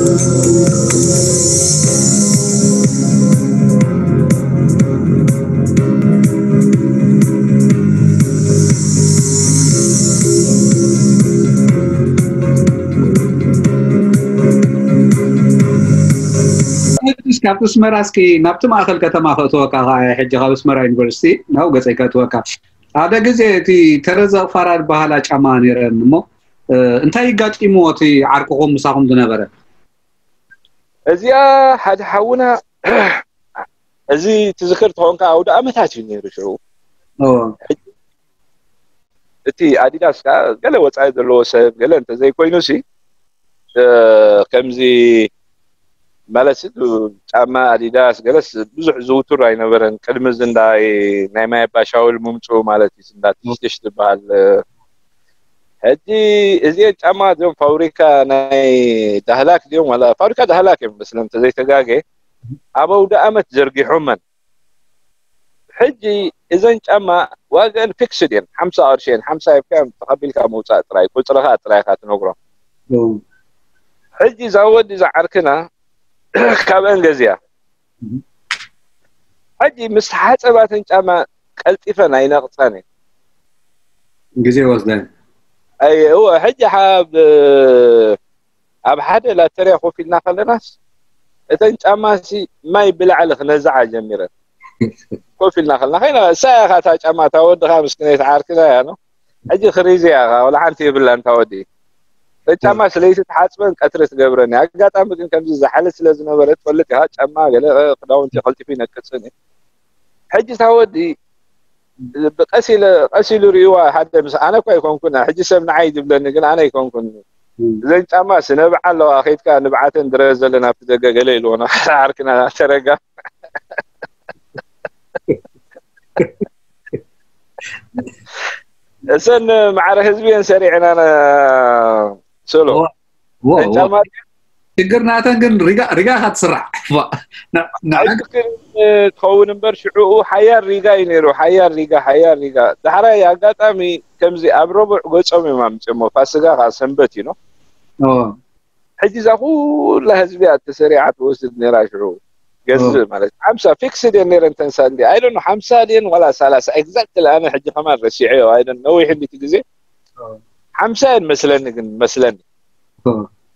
ካብ ኣስመራ እስኪ ናብቲ ማእኸል ከተማ ከእትወካ ከዓ ሕጂ ካብ ኣስመራ ዩኒቨርሲቲ ናብ ገፀይ ከእትወካ ሓደ ግዜ እቲ ተረዘ ፋራ ዝበሃላ ጫማ ነይረን እሞ እንታይ ይጋጢምዎ እቲ ዓርክኹም ምሳኹም ዝነበረ? እዚኣ ሓደ ሓውና እዚ ትዝክር ተኾንካ ኣውደ ኣመታት እዩ ነይሩ ሽዑ። እቲ ኣዲዳስ ከዓ ገለ ወፃኢ ዘለዎ ሰብ ገለ እንተዘይኮይኑ ሲ ከምዚ ማለት ጫማ ኣዲዳስ ገለስ ብዙሕ ዝውቱር ኣይነበረን። ቅድሚ እዚ እንዳ ናይ ማይ ኣባሻውል ምምፅኡ ማለት እዩ እንዳ ትሽትሽ ዝበሃል። ሕጂ እዚአን ጫማ እዚኦም ፋብሪካ ናይ ዳህላክ ድዮም ዋላ ፋብሪካ ዳህላክ እዮም መስለን እንተዘይተጋገ ኣብ ኣውደ ኣመት ዘርጊሖመን። ሕጂ እዘን ጫማ ዋጋን ፊክስድ እየን ሓምሳ ቅርሺ እየን ሓምሳ ሂብካ ተቐቢልካ ምውፃእ ጥራይ ቁፅርኻ ጥራይ ኢኻ ትነግሮም። ሕጂ እዛ ወዲ እዛ ዓርክና ካብአን ገዚኣ ሕጂ ምስ ሓፀባተን ጫማ ቀልጢፈን ኣይነቕፀን እየ ግዜ ወስደን እወ ሕጂ ሓብ ኣብ ሓደ ላተርያ ኮፍ ኢልና ከለናስ እተን ጫማሲ ማይ ብላዕሊ ክነዝዓ ጀሚረን ኮፍ ኢልና ከለና ከይና እሳ ኢኻ እታ ጫማ እታ ወድኻ ምስኪነይቲ ዓርክና እያ ነው ሕጂ ክሪዚ እያ ወላ ሓንቲ የብላን እታ ወዲ እተን ጫማ ስለይቲ ትሓፅበን ቀትሪ ትገብረን እያ ኣጋጣሚ ግን ከምዚ ዝሓለት ስለ ዝነበረ ትፈልጥ ኢኻ ጫማ ገለ ክዳውንቲ ቀልጢፉ ይነቅፅን እዩ ሕጂ እታ ወዲ ብቀስ ኢለ ቀስ ኢሉ ሪእዋ ሓደ ምስ ኣነ እኳ ኣይኮንኩን ሕጂ ሰብ ንዓይ ዝብለኒ ግን ኣነ ኣይኮንኩን እዘን ጫማ ስነብዓ ኣለዋ ከይድካ ንብዓተን ድረ ዘለና ኣብቲ ደገ ገለ ኢልዎ ዓርክና ተረጋ እሰን ማዕረ ህዝቢ እየን ሰሪዕና ሶሎ ጫማ ሽግር ናተን ግን ሪጋ ሪጋ ኢኻ ትስራሕ ትኸውን እምበር ሽዑኡ ሓያል ሪጋ እዩ ነይሩ ሓያል ሪጋ ሓያል ሪጋ ዳሕራይ ኣጋጣሚ ከምዚ ኣብ ረቡዕ ገፆም እዮም ኣምፅሞ ፋስጋ ከዓ ሰንበት እዩ ነው ሕጂ እዛ ኩላ ህዝቢ እያ ተሰሪዓ ትወስድ ነይራ ሽዑ ገዝእ ማለት ሓምሳ ፊክስድ እየን ነይረን ተን ሳንዲ ኣይደኖ ሓምሳ ድየን ዋላ ሰላሳ ኤግዛክትሊ ኣነ ሕጂ ከማን ረሲዐዮ ኣይደን ነዊሕ እንዲቲ ግዜ ሓምሳ እየን መስለኒ ግን መስለኒ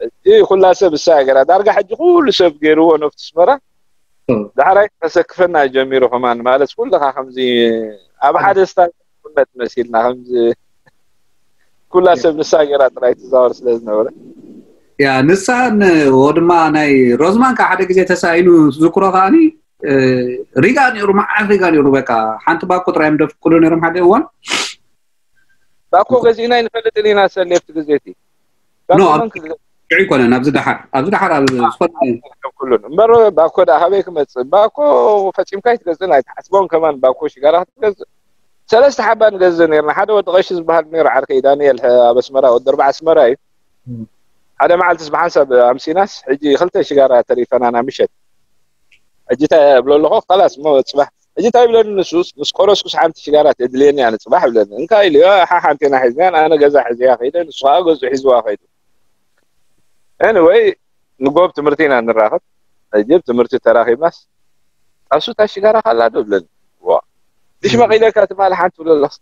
እቲ ኩላ ሰብ እሳ ገራ ዳርጋ ሕጂ ኩሉ ሰብ ገይርዎ ነፍቲ ኣስመራ ዳሕራይ ከሰክፈና ጀሚሩ ከማን ማለት ኩልኻ ከምዚ ኣብ ሓደ ስታ ኩነት መሲልና ከምዚ ኩላ ሰብ ንሳ ገራ ጥራይ ትዛወር ስለ ዝነበረ ያ ንሳን ወ ድማ ናይ ሮዝማን ከዓ ሓደ ግዜ ተሳኢኑ ዝዝክሮ ከዓኒ ሪጋ ነይሩ መዓት ሪጋ ነይሩ በቃ ሓንቲ ባኮ ጥራይ እዮም ደፍቅሉ ነይሮም ሓደ እዋን ባኮ ገዚእና ኣይንፈልጥን ኢና ሰሌ ኣብቲ ግዜ እቲ ሽዑ ይኮነ ናብዚ ደሓር ኣብዚ ደሓር ኣብ ዝኾነ ኩሉን እምበር ባኮ ዳ ካበይ ክመፅእ ባኮ ፈፂምካ ኣይትገዝእን ኣይትሓስቦን ከማን ባኮ ሽጋራ ክትገዝእ ሰለስተ ሓባ ንገዝእ ነርና ሓደ ወዲ ቀሺ ዝበሃል ነይሩ ዓርከይ ዳንኤል ኣብ ኣስመራ ወዲ ኣርባዓ ኣስመራ እዩ ሓደ መዓልትስ ብሓንሳብ ኣምሲናስ ሕጂ ክልተ ሽጋራ ተሪፈናና ምሸት ሕጂ እንታይ እብሎ ኣለኹ ከላስ እሞ ፅባሕ ሕጂ እንታይ ይብለኒ ንሱስ ምስ ቆረስኩስ ሓንቲ ሽጋራ ተድልየኒ እያ ንፅባሕ ይብለኒ እንካ ኢሉ እዮ ሓ ሓንቴና ሒዝናያን ኣነ ገዛ ሒዘያ ከይደ ንሱ ከዓ ገዝኡ ሒዝዋ ከይዱ anyway ንጎብ ትምህርቲ ኢና ንራኸብ ሕጂ ብ ትምህርቲ ተራኺብናስ ኣሱ እታ ሽጋራ ካላ ዶ ይብለኒ ዋ ድሽመቕ ኢለካ ትማሊ ሓንቲ ትብሎ ኣለኹ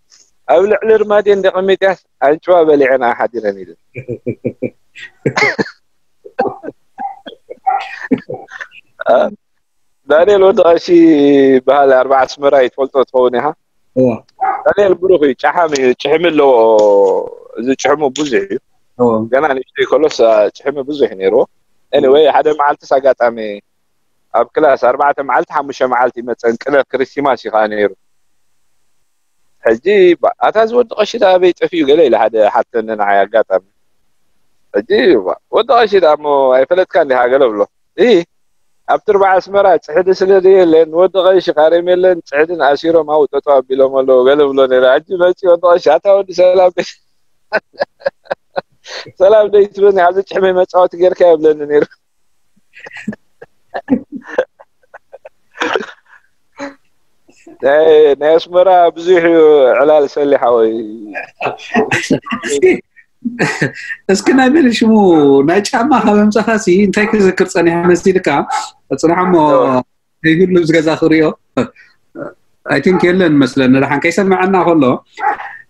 ኣብ ልዕሊ ርማድዮ እንደ ቀሚጥያስ ኣንጭዋ በሊዐን ኣሓዲረን ኢለ ዳንኤል ወዲ ቀሺ በሃል ኣርባዓ ኣስመራ እዩ ትፈልጦ ትኸውን ኢኻ ዳንኤል ብሩኽ እዩ ጫሓም እዩ ጭሕሚ ኣለዎ እዚ ጭሕሙ ብዙሕ እዩ ገና ንእሽተይ ከሎስ ጭሕሚ ብዙሕ ነይርዎ anyway ሓደ መዓልትስ ኣጋጣሚ ኣብ ክላስ ኣርባዕተ መዓልቲ ሓሙሽተ መዓልቲ ይመፀን ቅነ ክሪስቲማስ እዩ ከዓ ነይሩ ሕጂ ኣታ ዝወዲ ቀሺ ዳ ኣበይ ጠፊኡ ገለ ኢለ ሓደ ሓተኒ ንዓይ ኣጋጣሚ ሕጂ ወዲ ቀሺ ዳ እሞ ኣይፈለጥካ እንዲኻ ገለ ብሎ እ ኣብቲ ርባዕ ኣስመራ ፅሕዲ ስለ ዘየለን ወዲ ቀሺ ካሬም የለን ፅሕድን ኣሲሮም ኣብኡ ጠጠው ኣቢሎም ኣለዉ ገለ ብሎ ነይረ ሕጂ መፂ ወዲ ቀሺ ኣታ ወዲ ሰላም ሰላም ደይ ትብለኒ ኣብዚ ጭሕመይ መፃወቲ ጌርካ የብለኒ ነይሩ ናይ ኣስመራ ብዙሕ እዩ ዕላል ሰሊ ሓወይ እስኪ ናይ መን ሽሙ ናይ ጫማ ካብ ኣምጻኻሲ እንታይ ክዝክር ጸኒሐ መሲልካ? ጽናሕ እሞ ይግሉ ዝገዛ ክሪኦ። I think የለን መስለኒ፣ ደሓን ከይሰምዐና ከሎ።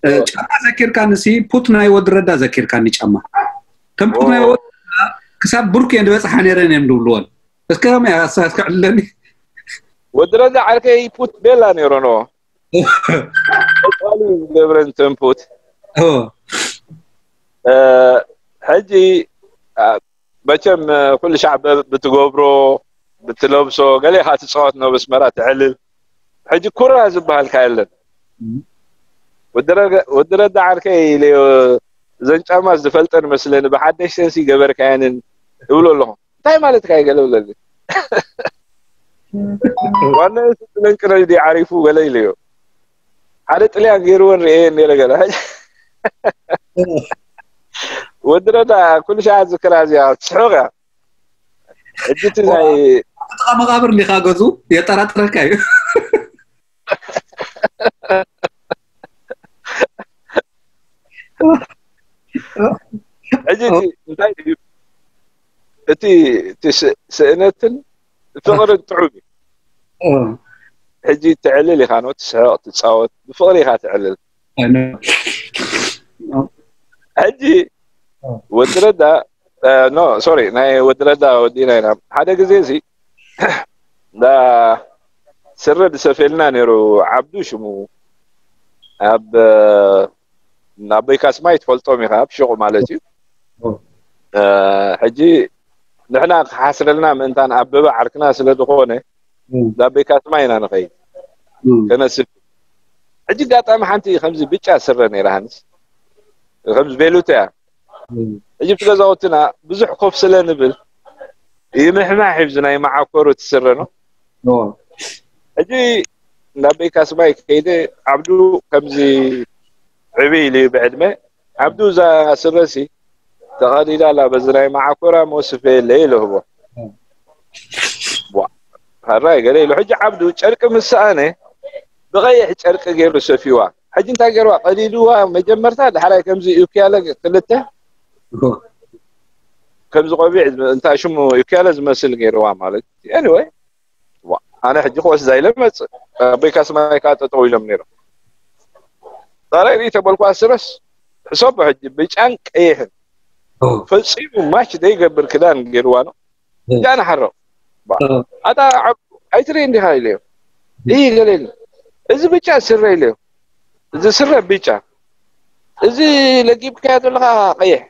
እ፣ ጫማ ዘኪርካኒ ሲ፣ ፑት ናይ ወዲ ረዳ ዘኪርካኒ። ጫማ ከም ፑት ናይ ወዲ ረዳ ክሳብ ብሩክ እየን ዝበጽሓ ነይረን እዮም ዝብልዎን። እስከ ከመይ ኣሳት ክዕለኒ? ወዲ ረዳ ዓርከይ ፑት ቤላ ነይሩ ነው። ቃሉ ዝገብረን ተንፉት። ሕጂ መቸም ኩሉ ሻዕ ብትገብሮ ብትለብሶ ገለ ኢኻ ትፃወት ነው በስመራ ትዕልል። ሕጂ ኩራ ዝበሃልካ የለን። ወዲ ረዳ ዓርከይ ኢለዮ፣ እዘን ጫማ ዝፈልጠን መስለኒ፣ ብሓደሽ ሰንሲ ገበርካየንን እብሎ ኣለኹ። እንታይ ማለት ካይ ገለ ብለኒ። ዋና ስጥለን ቅረጅ ዓሪፉ ገለ ኢለዮ። ሓደ ጥልያን ገይርወን ርእየ ነረ ገለ። ወዲ ረዳ ኩሉ ሻዕ ዝክራ እዚኣ ትስሕቕ እያ። ሕጂ እቲ ናይ ጥቃ መቃብር እንዲኻ ገዙ የጠራጥረካ እዩ። ሕጂ እቲ እንታይ እዩ እቲ እቲ ስ- ስእነትን ፍቕርን ጥዑም እዩ። ሕጂ ትዕልል ኢኻ ነው ትስሕቕ ትፃወት ብፍቕሪ ኢኻ ትዕልል። ሕጂ ወዲ ረዳ ኖ ሶሪ ናይ ወዲ ረዳ ወዲና ኢና ሓደ ግዜ እዚ እንዳ ስረ ዝሰፌልና ነይሩ። ዓብዱ ሽሙ ኣብ ኣቦይ ካስማይ ትፈልጦም ኢኻ ኣብ ሽቑ ማለት እዩ። ሕጂ ንሕና ክሓስረልና ምእንታን ኣበበ ዓርክና ስለ ዝኾነ ኣቦይ ካስማይ ኢና ንኸይድ ከነስፍ። ሕጂ ኣጋጣሚ ሓንቲ ከምዚ ብጫ ስረ ነይራ ሃንስ ከምዚ ቤሉት እያ። ሕጂ ብቲ ገዛውትና ብዙሕ ኮፍ ስለ ንብል ይምሕማሕ ይብዚ ናይ መዓኮሩ ትስረ ነው። ሕጂ ናብ ቤካስማይ ከይደ ዓብዱ ከምዚ ዕብይ ኢሉ እዩ ብዕድመ። ዓብዱ እዛ ስረሲ ተቐዲዳ ኣላ በዚ ናይ መዓኮራ መወስፈ የለ ኢለ ህቦ። ዋ፣ ሕራይ ገለ ኢሉ። ሕጂ ዓብዱ ጨርቂ ምስ ሰኣነ ብቐይሕ ጨርቂ ገይሩ ሰፊዋ። ሕጂ እንታይ ገይርዋ? ቀዲድዋ መጀመርታ፣ ዳሕራይ ከምዚ ዩክያለ ክልተ ከምዚ ቆቢዕ እንታ ሽሙ ዩክያለ ዝመስል ገይርዋ ማለት እዩ። Anyway፣ ዋ፣ ኣነ ሕጂ ክወስዳ ኢለ መጽእ። ኣቦይ ካስማይ ከዓ ጠጠው ኢሎም ነይሮም። ጣራይ ርኢ ተበልኳ ስረስ ሕሰቦ ሕጂ ብጫን ቀይሕን ፈጺሙ ማች ዘይገብር ክዳን ገይርዋ ነው። ጃና ሓሮ ኣታ ዓብ ኣይትርኢ እንዲኻ ኢለዮ። ይህ ገለ ኢለ እዚ ብጫ ስረ ኢለዮ። እዚ ስረ ብጫ እዚ ለጊብካዮ ዘለኻ ቀይሕ።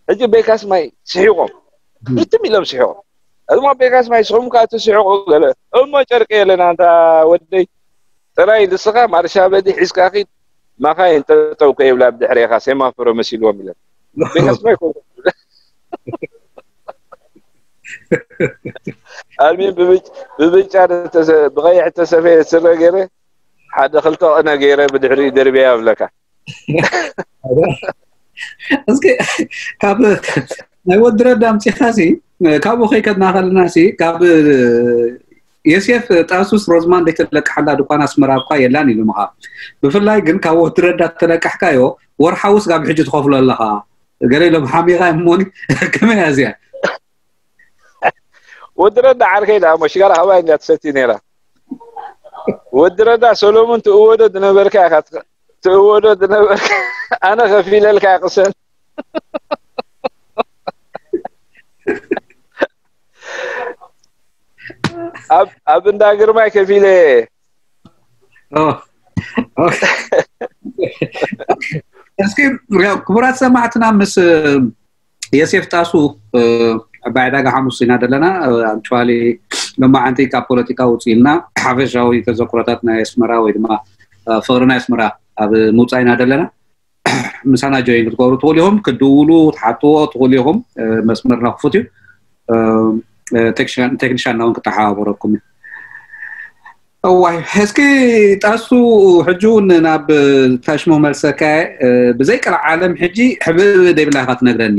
ሕጂ ቤካስ ማይ ስሒቖም ብትም ኢሎም ስሒቖም። እሞ ቤካስ ማይ ስኹም ከዓ ትስሕቑ ገለ እሞ ጨርቂ የለን ኣንታ ወደይ ጥራይ ንስኻ ማርሻ በዲ ሒዝካ ኺድ ማኻይን ጠጠው ከይብላ ብድሕሬኻ ሴማፍሮ መሲልዎም ኢለን። ቤካስ ማይ ኮ ኣልሚን ብብጫ ብቀይሕ ተሰፈየ ስረ ገይረ ሓደ ክልተ ቅነ ገይረ ብድሕሪኡ ደርብያ ይብለካ። እስኪ ካብ ናይ ወዲ ረዳ ኣምፂኻሲ ካብኡ ከይከድና ከለናሲ ካብ የሴፍ ጣሱስ ሮዝማን ዘይተለቅሓላ ድኳን ኣስመራ እኳ የላን ኢሉ ምኻ። ብፍላይ ግን ካብ ወዲ ረዳ ተለቃሕካዮ ወርሓዊ ስጋብ ሕጂ ትኸፍሎ ኣለኻ። ገለ ኢሎም ሓሚኻ እሞኒ ከመይ እያ እዚኣ? ወዲ ረዳ ዓርከይ ደኣ እሞ ሽጋራ ካባይ እንድያ ትሰቲ ነይራ። ወዲ ረዳ ሰሎሙን ትእወዶ ዝነበርካ ኢኻ ትኸ- ትእወዶ ዝነበርካ ኣነ ከፊለልካ ቅሰን። ኣብ ኣብ እንዳ ግርማይ ከፊለ እስኪ ክቡራት ሰማዕትና ምስ የሴፍ ጣሱ ዕባይ ዕዳጋ ሓሙስ ኢና ዘለና። ኣክቹዋሊ ሎማዓንቲ ካብ ፖለቲካ ውፅእ ኢልና ሓፈሻዊ ተዘክሮታት ናይ ኣስመራ ወይ ድማ ፍቅሪ ናይ ኣስመራ ኣብ ምውፃእ ኢና ዘለና። ምሳና ጆይን ክትገብሩ ትኽእሉ ኢኹም፣ ክትድውሉ ክትሓትዎ ትኽእሉ ኢኹም። መስመርና ክፉት እዩ። ቴክኒሻንና እውን ክተሓባበረኩም እዩ። እዋይ እስኪ ጣሱ ሕጂ እውን ናብ ታሽሞ መልሰካ። ብዘይ ቀልዓለም ሕጂ ሕብእብ ደይብላ ኢኻ ትነግረኒ።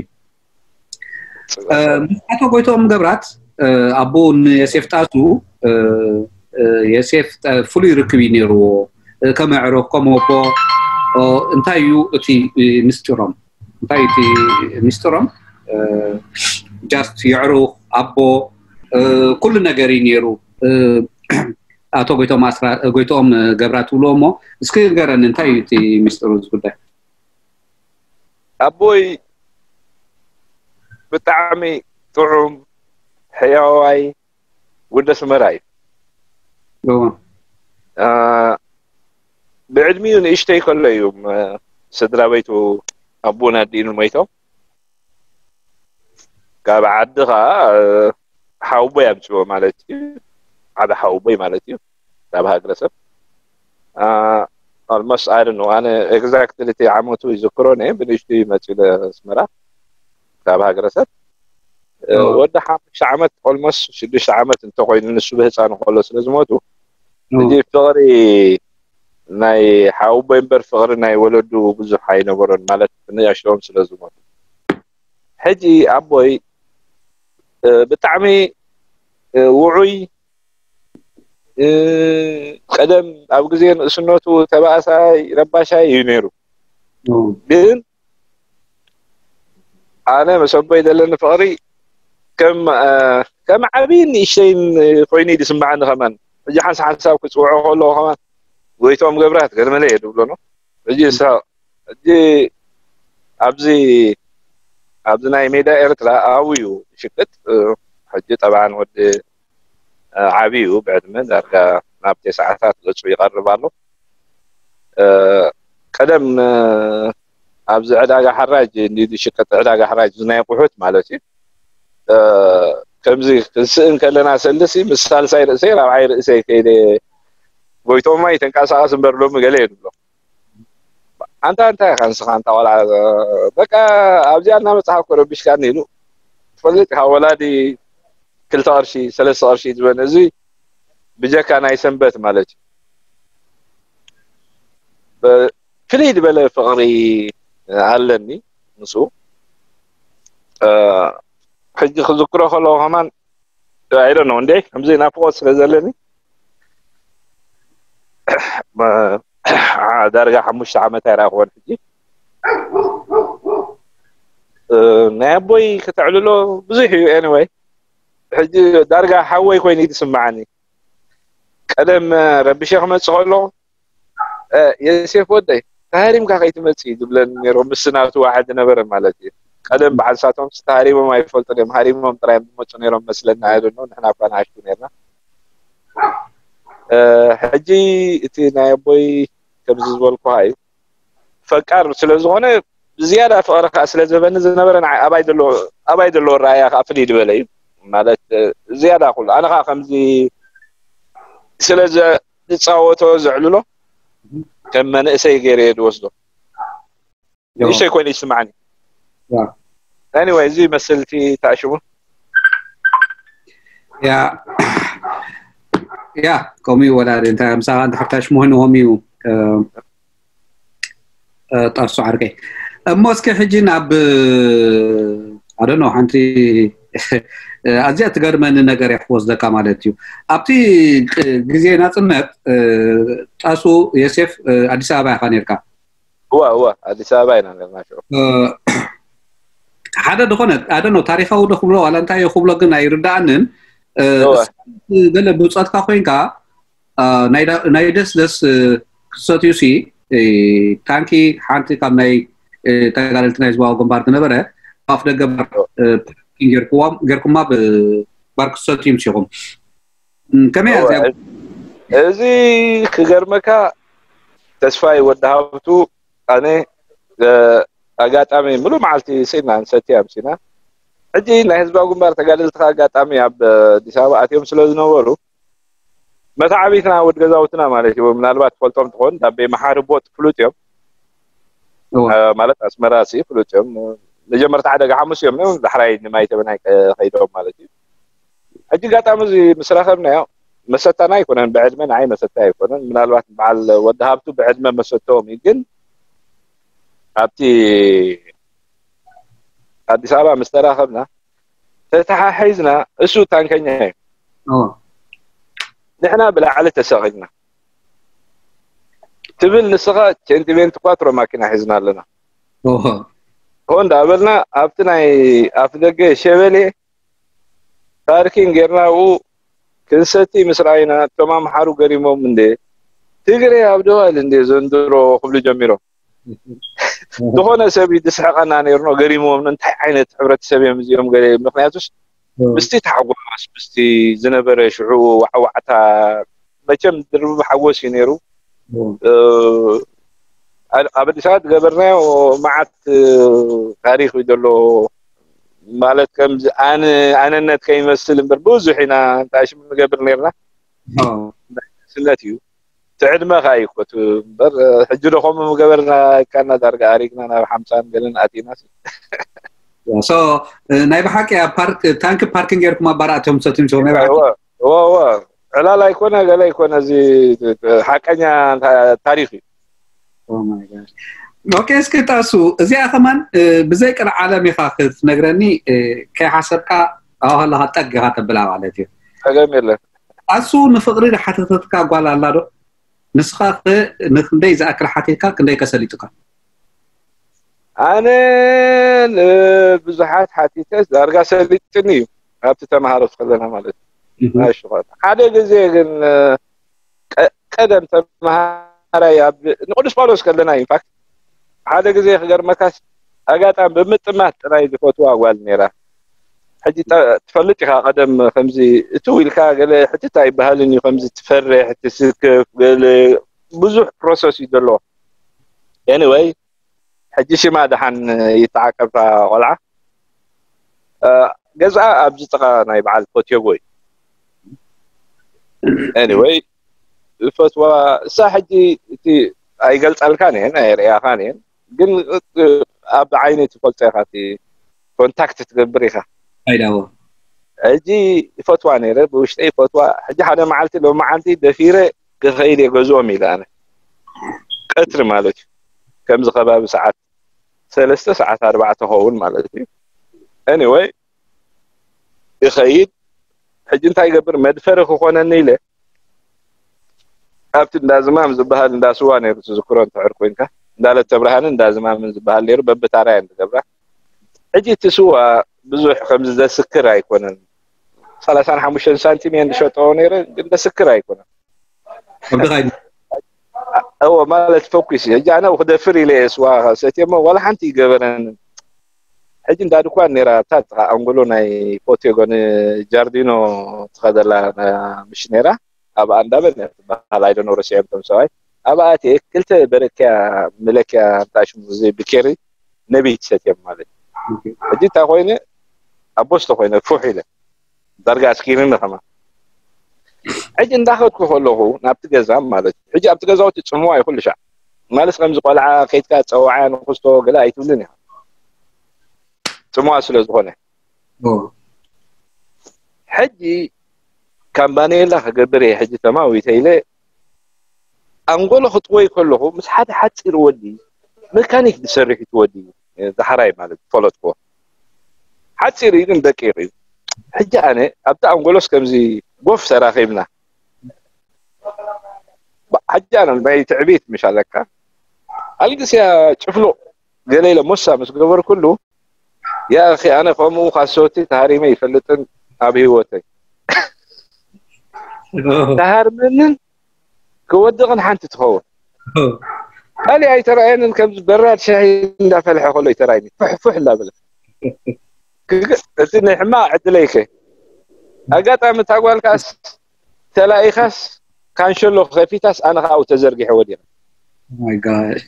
ኣቶ ጎይቶም ገብራት ኣቦኡ ንየሴፍ ጣሱ የሴፍ ፍሉይ ርክብ እዩ ነይርዎ። ከም ኣዕሩኽ ከም ኣቦ እንታይ እዩ እቲ ምስጢሮም? እንታይ እቲ ሚስጥሮም? ጃስት የዕሩኽ ኣቦ ኩሉ ነገር እዩ ነይሩ። ኣቶ ጎይቶም ኣስራ ጎይቶም ገብራ ትብልዎ እሞ እስኪ ንገረኒ እንታይ እዩ እቲ ሚስጥሩ እዚ ጉዳይ? ኣቦይ ብጣዕሚ ጥዑም ሕያዋይ ወዲ ኣስመራ እዩ። ብዕድሚኡ ንእሽተይ ከሎ እዩ ስድራ ቤቱ ኣቦን ኣዲኡን ሞይቶም። ካብ ዓዲ ከዓ ሓውቦይ ኣምፅዎ ማለት እዩ። ዓቢ ሓውቦይ ማለት እዩ። ካብ ሃገረሰብ ኦልሞስት ኣይ ዶንት ኖ ኣነ ኤግዛክትሊ እቲ ዓመቱ ይዝክሮ ነ ብንእሽቱ ይመፅኡ ኣስመራ ካብ ሃገረሰብ ወዲ ሓሙሽተ ዓመት ኦልሞስት ሽዱሽተ ዓመት እንተኮይኑ ንሱ ብህፃኑ ከሎ ስለ ዝሞቱ እዚ ፍቅሪ ናይ ሓውቦይ እምበር ፍቅሪ ናይ ወለዱ ብዙሕ ኣይነበሮን ማለት ንእሽቶም ስለ ዝሞቱ። ሕጂ ኣቦይ ብጣዕሚ ውዑይ ቀደም ኣብ ግዜ ንእስነቱ ተባእሳይ ረባሻይ እዩ ነይሩ። ግን ኣነ ምስ ኣቦይ ዘለኒ ፍቅሪ ከም ዓብይን ንእሽተይን ኮይኑ እዩ ዝስምዓኒ። ከማን ሕጂ ሓንሳብ ሓንሳብ ክፅውዖ ከለዎ ከማን ጎይቶም ገብራት ገርመለ እየ ዝብሎ ነው። ሕጂ ሕጂ ኣብዚ ኣብዚ ናይ ሜዳ ኤርትራ ኣብዩ ሽቅጥ ሕጂ ጠብዓን ወዲ ዓብዩ ብዕድመ ዳርጋ ናብ ተስዓታት ገፁ ይቐርብ ኣሎ። ቀደም ኣብዚ ዕዳጋ ሓራጅ እንዲ ዝሽቅጥ ዕዳጋ ሓራጅ ናይ ቁሑት ማለት እዩ። ከምዚ ክንስእን ከለና ሰልሲ ምስ ሳልሳይ ርእሰይ ራብዓይ ርእሰይ ከይደ ጎይቶማ ይተንቀሳቀስ እምበር ሎሚ ገለ እየ ዝብሎ። ኣንታ እንታይ ኢኻ ንስኻ ኣንታ ቆልዓ በቃ ኣብዚኣ እናመፅኻ እኮ ረቢሽካኒ ኢሉ ትፈልጥ ኢኻ። ወላዲ ክልተ ቅርሺ ሰለስተ ቅርሺ ዝበነ እዚ ብጀካ ናይ ሰንበት ማለት እዩ። ፍልይ ዝበለ ፍቅሪ ኣለኒ ምስ ሕጂ ክዝክሮ ከለዎ ከማን I don't know እንዴ ከምዚ ናፍቆት ስለ ዘለኒ ዳርጋ ሓሙሽተ ዓመት ኣይረኣኽዎን ሕጂ ናይ ኣቦይ ከተዕልሎ ብዙሕ እዩ። Anyway ሕጂ ዳርጋ ሓወይ ኮይኑ እዩ ዝስምዓኒ። ቀደም ረቢሸ ክመፅእ ከሎ የሴፍ ወደይ ተሃሪምካ ከይትመፅእ እዩ ዝብለኒ ነይሩ። ምስ ናቱ ዋሕድ ዝነበረ ማለት እዩ። ቀደም በዓል ሳቶም ተሃሪሞም ኣይፈልጡን እዮም። ሃሪሞም ጥራይ እዮም ዝመፁ ነይሮም መስለና። I don't know ንሕና እኳ ንኣሽቱ ነርና። ሕጂ እቲ ናይ ኣቦይ ከምዚ ዝበልኩካ እዩ ፈቃር ስለ ዝኾነ ዝያዳ ፍቕሪ ከዓ ስለ ዝህበኒ ዝነበረ ንዓይ ኣባይ ዘሎ ኣባይ ዘለዎ ረኣያ ከዓ ፍልይ ዝበለ እዩ ማለት ዝያዳ ኩሉ ኣነ ከዓ ከምዚ ስለ ዝፃወቶ ዘዕልሎ ከም መንእሰይ ገይረ እየ ዝወስዶ። ንእሽተይ ኮይኑ ይስማዓኒ። Anyway እዚ መስልቲ ታሽሙ ያ ያ ከምኡ እዩ ወላዲ እንታይ ምሳኻ እንድሕር ታሽሙ ኮይኑ ከምኡ እዩ። ጠርሱ ዓርከይ እሞ እስኪ ሕጂ ናብ ኣደኖ ሓንቲ ኣዝያ ትገርመኒ ነገር እያ ክወስደካ ማለት እዩ። ኣብቲ ግዜ ናፅነት ጠሱ የሴፍ ኣዲስ ኣበባ ኢኻ ነርካ? እዋ እዋ ኣዲስ ኣበባ ኢና ነርና ሽዑ። ሓደ ዝኾነ ኣደኖ ታሪካዊ ዶ ክብሎ ዋላ እንታይ ክብሎ ግን ኣይርዳእንን። ገለ ብፆትካ ኮይንካ ናይ ደስ ደስ ክሰትዩ ሲ ታንኪ ሓንቲ ካብ ናይ ተጋደልቲ ናይ ህዝባዊ ግንባር ዝነበረ ኣፍ ደገ ጌርኩማ ባር ክሰትዩ ምስ ኢኹም ከመይ እያ እዚኣ? እዚ ክገርመካ ተስፋይ ወዲ ሃብቱ ኣነ ኣጋጣሚ ምሉእ መዓልቲ ስኢና ንሰትያ ኣምሲና ሕጂ ናይ ህዝባዊ ግንባር ተጋደልቲ ኣጋጣሚ ኣብ ኣዲስ ኣበባ ኣትዮም ስለ ዝነበሩ መታዓቢትና ወድ ገዛውትና ማለት እዩ። ምናልባት ትፈልጦም ትኾን ዳቤ መሓሪ ቦጥ ፍሉጥ እዮም ማለት ኣስመራ ሲ ፍሉጥ እዮም። መጀመርታ ሓደ ሓሙስ እዮም ነዮም ዳሕራይ ንማይ ተበናይ ከይዶም ማለት እዩ። ሕጂ ኣጋጣሚ እዚ ምስ ረኸብናዮ መሰታና ኣይኮነን ብዕድመ ንዓይ መሰታ ኣይኮነን። ምናልባት በዓል ወዲ ሃብቱ ብዕድመ መሰተዎም እዩ ግን ኣብቲ ኣዲስ ኣበባ ምስ ተራኸብና ተተሓሒዝና እሱ ታንከኛ እዩ ንሕና ብላዕሊ ተሰቒልና ትብል ንስኻ ቸንቲቤንቲ ኳትሮ ማኪና ሒዝና ኣለና። ሆ እንዳበልና ኣብቲ ናይ ኣፍ ደገ ሸበሌ ፓርኪንግ ጌርና ኣብኡ ክንሰቲ ምስ ረኣይና፣ እቶም ኣምሓሩ ገሪሞም፣ "እንዴ ትግሬ ኣብ ደዋል እንዴ ዘንድሮ?" ክብሉ ጀሚሮም። ዝኾነ ሰብ እዩ ዝስሕቐና ነይሩ፣ ገሪሞም፣ "እንታይ ዓይነት ሕብረተሰብ እዮም እዚኦም?" ገለ፣ ምክንያቱስ ምስቲ ታሕጓስ፣ ምስቲ ዝነበረ ሽዑ ዋዕዋዕታ፣ መቸም ድርብ ሓጎስ እዩ ነይሩ። እ፣ ኣብ ኣብ ኣዲስ ኣበባ ዝገበርናዮ መዓት፣ እ፣ ታሪኽ እዩ ዘሎ። ማለት ከምዚ ኣነ-፣ ኣነነት ከይመስል እምበር ብዙሕ ኢና እንታይ ሽም ንገብር ነይርና። ስነት እዩ። እቲ ዕድመ ከኣ እዩ ኮት እምበር፣ ሕጂ ዶ ከምኡ ምገበርና ኢልካና ዳርጋ ኣሪግና ናብ ሓምሳን ገለን ኣቲና። ሶ፣ እ፣ ናይ ብሓቂ ኣብ ፓርክ፣ ታንኪ ፓርኪንግ ጌርኩም ኣብ ባር ኣትዮም ሰትዮም ሶ ናይ ብሓቂ? እወ፣ እወ፣ እወ። ዕላል ኣይኮነ፣ ገለ ኣይኮነ፣ እዚ ሓቀኛ ታ-፣ ታሪኽ እዩ። Oh my God። ኦኬ፣ እስኪ ጣሱ፣ እዚኣ ከማን፣ እ፣ ብዘይ ቅርዓለም ኢኻ ክትነግረኒ፣ እ፣ ከይሓሰብካ ኣብኡ ከለኻ ጠግ ኢኻ ተብላ ማለት እዩ። ጸገም የለን። ጣሱ፣ ንፍቕሪ ዝሓተተትካ ጓል ኣላ ዶ? ንስኻ ኸ ንክንደይ ዝኣክል ሓቲትካ፣ ክንደይ ከ ሰሊጡካ? ኣነ ንብዙሓት ሓቲተ፣ ዳርጋ ሰሊጥኒ እዩ፣ ኣብቲ ተምሃሮ ከለና ማለት እዩ። እህ። ናይ ሽኾር። ሓደ ግዜ ግን፣ ቀ-፣ ቀደም ተምሃራይ ኣብ ንቅዱስ ጳውሎስ ከለና፣ ኢንፋክት፣ ሓደ ግዜ ክገርመካስ፣ ኣጋጣሚ ብምጥማት ጥራይ ዝፈትዋ ጓል ነይራ። ሕጂ ጠ-፣ ትፈልጥ ኢኻ፣ ቀደም ከምዚ እትው ኢልካ ገለ ሕትት ኣይበሃልን እዩ፣ ከምዚ ትፈርሕ፣ ትስከፍ፣ ገለ ብዙሕ ፕሮሰስ እዩ ዘለዎ። ኤኒወይ፣ ሕጂ ሽማ ደሓን ይተዓቀብ እታ ቆልዓ። እ፣ ገዝኣ ኣብዚ ጥቓ ናይ በዓል ፎትዮጎ እዩ። ኤኒወይ፣ ዝፈትዋ እሳ ሕጂ እቲ ኣይገልጻልካን እየን፣ ኣየርእያኻን እየን፣ ግን፣ እ፣ ኣብ ዓይኒ ትፈልጦ ኢኻ፣ እቲ ኮንታክት ትገብር ኢኻ። ኣይዳዎ። ሕጂ ይፈትዋ ነይረ፣ ብውሽጠይ ይፈትዋ። ሕጂ ሓደ መዓልቲ፣ ሎም መዓልቲ ደፊረ ክኸይድ እየ ገዝኦም ኢለ ኣነ። ቀትሪ ማለት እዩ። ከምዚ ከባቢ ሰዓት ሰለስተ፣ ሰዓት ኣርባዕተ ኸውን ማለት እዩ። ኤኒወይ፣ ይኸይድ። ሕጂ እንታይ ይገብር? መድፈሪ ክኾነኒ ኢለ ኣብቲ እንዳ ዝማም ዝበሃል እንዳ ስዋ ነይሩ፣ ትዝክሮ እንድሕር ኮንካ፣ እንዳ ለተብርሃንን እንዳ ዝማምን ዝበሃል ነይሩ፣ በብታራ እየን ዝገብራ። ሕጂ እቲ ስዋ ብዙሕ ከምዚ ዘስክር ኣይኮነን። ሰላሳን ሓሙሽተን ሳንቲም እየን ዝሸጠኦ ነይረ፣ ግን ዘስክር ኣይኮነን። ከብድኻ እዩ። እዎ፣ ማለት ፈኩስ እዩ። ሕጂ ኣነ ክደፍር ኢለ እየ ስዋ ሰትየ እሞ ዋላ ሓንቲ ይገበረን። ሕጂ እንዳ ድኳን ነይራ፣ ኣብታ ጥቓ ኣንጎሎ ናይ ፎቴጎ ንጃርዲኖ ትኸደላ ምሽ ነይራ። ኣብኣ እንዳበል እያ ትበሃል፣ ኣይደኖ ረሲዖም እቶም ሰብኣይ። ኣብኣ ኣትየ ክልተ በረክያ መለክያ እንታይ ሽሙ እዚ ብኬሪ ነቢት ሰትዮም ማለት እዩ። ኦኬ። ሕጂ እንታይ ኮይነ፣ ኣቦስቶ ኮይነ፣ ፉሕ ኢለ። ዳርጋ ኣስኪርኒ ከማ። ሕጂ እንዳኸድኩ ከለኹ ናብቲ ገዛ ማለት እዩ። ሕጂ ኣብቲ ገዛውቲ ጽምዋ እዩ ኩሉ ሻዕ። ማለት ከምዚ ቆልዓ ከይድካ ጸዋዓያ ንኽስቶ ገለ ኣይትብልን ኢኻ። ጽምዋ ስለ ዝኾነ። ኦ። ሕጂ ካምባኔላ ክገብር እየ ሕጂ ተማዊተ ኢለ ኣንጎሎ ክጥወይ ከለኹ ምስ ሓደ ሓጺር ወዲ መካኒክ ዝሰርሕ እዩ እቲ ወዲ፣ ዳሕራይ ማለት ዝፈለጥኩዎ። ሓጺር እዩ ግን ደቂቕ እዩ። ሕጂ ኣነ ኣብቲ ኣንጎሎስ ከምዚ ጎፍ ተራኺብና። ባ-፣ ሕጂ ኣነ ናይ ትዕቢት ምሽ ኣለካ። ኣልግስያ ጭፍሉቕ ገለ ኢለ ሞሳ ምስ ገበርኩሉ፣ ያ ኣኺ ኣነ ከምኡ ካሶቲ ተሃሪመ ይፈልጥን ኣብ ህይወተይ። ተሃርመንን ክወድቕን ሓንቲ ትኸውን። ካልእ ኣይተራእየንን፣ ከምዚ በራድ ሻሂ እንዳፈልሐ ከሎ ይተራእየኒ። ፍሕ ፍሕ እንዳበለ። ክግ-፣ እቲ ናይ ሕማቕ ዕድለይከ። ኣጋጣሚ እታ ጓልካስ ተላኢኻስ ካንሸሎ ከፊታስ ኣነ ኸኣ ኣብኡ ተዘርጊሐ ወዲቐ። Oh my gosh።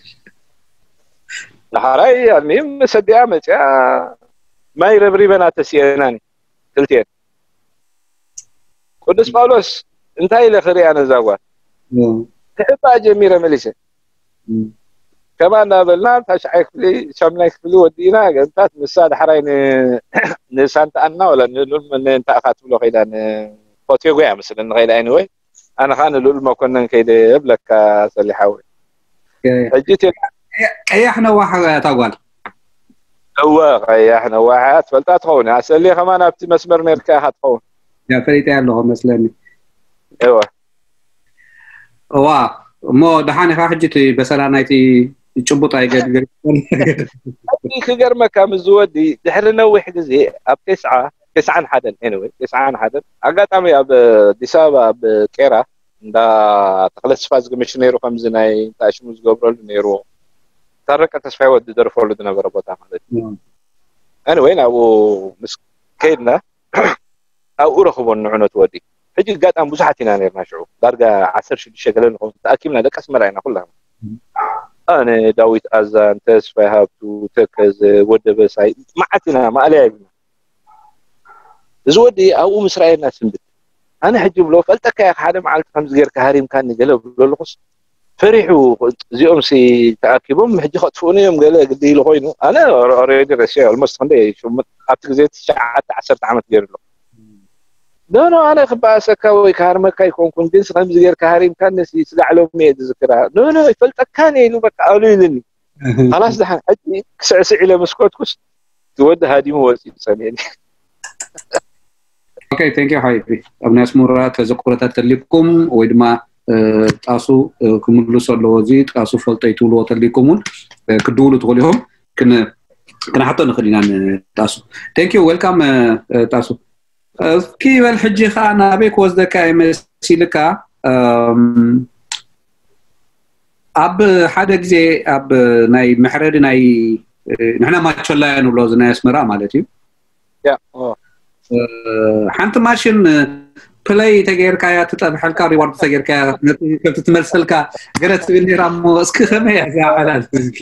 ዳሕራይ ኣልሚም ሰዲኣ መጺኣ ማይ ረብሪበና ተሲኤናኒ ክልቲኤን። ቅዱስ ጳውሎስ እንታይ ኢለ ክሪኣ ነዛ ጓል? እም። ክሕባእ ጀሚረ መሊሰ። እም። ከማ እንዳበልና ታሽዓይ ክፍሊ፣ ሻምናይ ክፍሊ ወዲእና፣ ገንታት ንሳ ዳሕራይ ን-፣ ንሳንታ ኣና ወላ ን-፣ ን-፣ ን-፣ እንታይ ኢኻ ትብሎ ከይዳ፣ ንፎቴጎ እያ መስለኒ ከይዳ፣ ኤኒወይ፣ ኣነ ኸኣ ንልኡል መኮነን ከይደ እብለካ ሰሊሓዊ። ኦኬ። ሕጂ ቴ-፣ ቀያሕ ነዋሕ እያ እታ ጓል። እወ፣ ቀያሕ ነዋሕ እያ፣ ትፈልጣ ትኸውን። ኣሰልየ ከማን ኣብቲ መስመር ነርካ ኢኻ ትኸውን። ያ፣ ፈሊጠያ ኣለኹ መስለኒ። እወ። እዋ፣ እሞ ደሓን ኢኻ ሕጂ እቲ በሰላ ናይቲ ጭቡጥ ኣይገድገድ ሕጂ ክገርመካ፣ ምስ ዝወዲ ድሕሪ ነዊሕ ግዜ ኣብ ተስዓ፣ ተስዓን ሓደን፣ anyway፣ ተስዓን ሓደን ኣጋጣሚ ኣብ ኣዲስ ኣበባ ኣብ ቄራ እንዳ ተኽለ ተስፋ ዝግምሽ ነይሩ፣ ከምዚ ናይ እንታይ ሽሙ ዝገብረሉ ነይሩ፣ ታረቀ ተስፋ ወዲ ደርፈሉ ዝነበረ ቦታ ማለት እዩ። Anyway፣ ናብኡ ምስ ከይድና ኣብኡ ረኽቦ ንዕነቱ ወዲ። ሕጂ ኣጋጣሚ ብዙሓት ኢና ነርና ሽዑ፣ ዳርጋ ዓሰርተ ሽዱሽተ ገለ ንኸውን፣ ተኣኪብና፣ ደቂ ኣስመራ ኢና ኩላና። ኣነ፣ ዳዊት ኣዛን፣ ተስፋይ ሃብቱ፣ ተከዘ፣ ወደ በሳይ፣ መዓት ኢና፣ ማእለያ የብልና። እዚ ወዲ ኣብኡ ምስ ረኣየና ስንብት። ኣነ ሕጂ ብሎ፣ "ፈልጠካ እየ፣ ሓደ መዓልቲ ከምዚ ጌርካ ሃሪምካኒ" ገለ ብሎ ኣለኹስ፣ ፈሪሑ፣ "እዚኦም ሲ ተኣኪቦም ሕጂ ከጥፍኡኒ እዮም" ገለ ግዲ ኢሉ ኮይኑ፣ ኣነ already ረሲዐ፣ almost ክንደይ ሽሙ-፣ ኣብቲ ግዜ ትሽዓተ ዓሰርተ ዓመት ገይሩ ኣሎ። "ኖ፣ ኖ፣ ኣነ ክበኣሰካ ወይ ክሃርመካ ኣይኮንኩን፣ ግን ከምዚ ጌርካ ሃሪምካኒ ሲ ስጋዕ ሎሚ እየ ዝዝክራ። ኖ፣ ኖ፣ ይፈልጠካን እየ" ኢሉ በቃ ኣሉ ኢልኒ። ካላስ ደሓን ሕጂ ክስዕስዕ ኢለ ምስ ከድኩስ፣ እቲ ወዲ ሃዲሙ ወፂኡ ጸሚእኒ። ኦኬ፣ thank you ሓቢቢ። ኣብ ናይ ኣስመራ ተዘክሮታት ተሊኩም ወይ ድማ እ፣ ጣሱ እ፣ ክምልሶ ኣለዎ። እዚ ጣሱ ፈልጠይ ትብልዎ ተሊኩም እውን እ፣ ክድውሉ ትኽእሉ ኢኹም። ክን-፣ ክንሓቶ ንኽእል ኢና ንጣሱ። Thank you፣ welcome እ፣ እ፣ ጣሱ። እስኪ በል ሕጂ ኸዓ ናበይ ክወስደካ ይመሲልካ? እም፣ ኣብ ሓደ ግዜ ኣብ ናይ መሕረዲ ናይ እ፣ ንሕና ማቾላያ ንብሎ እዚ ናይ ኣስመራ ማለት እዩ። ያ፣ ኦ። እ፣ ሓንቲ ማሽን ፕለይ ተገይርካያ ትጠብሐልካ፣ ሪዋርድ ተገይርካያ ነቲ ከብቲ ትመልሰልካ ገለ ትብል ነይራ እሞ እስኪ ከመይ እያ እዚኣ ዕላል እስኪ?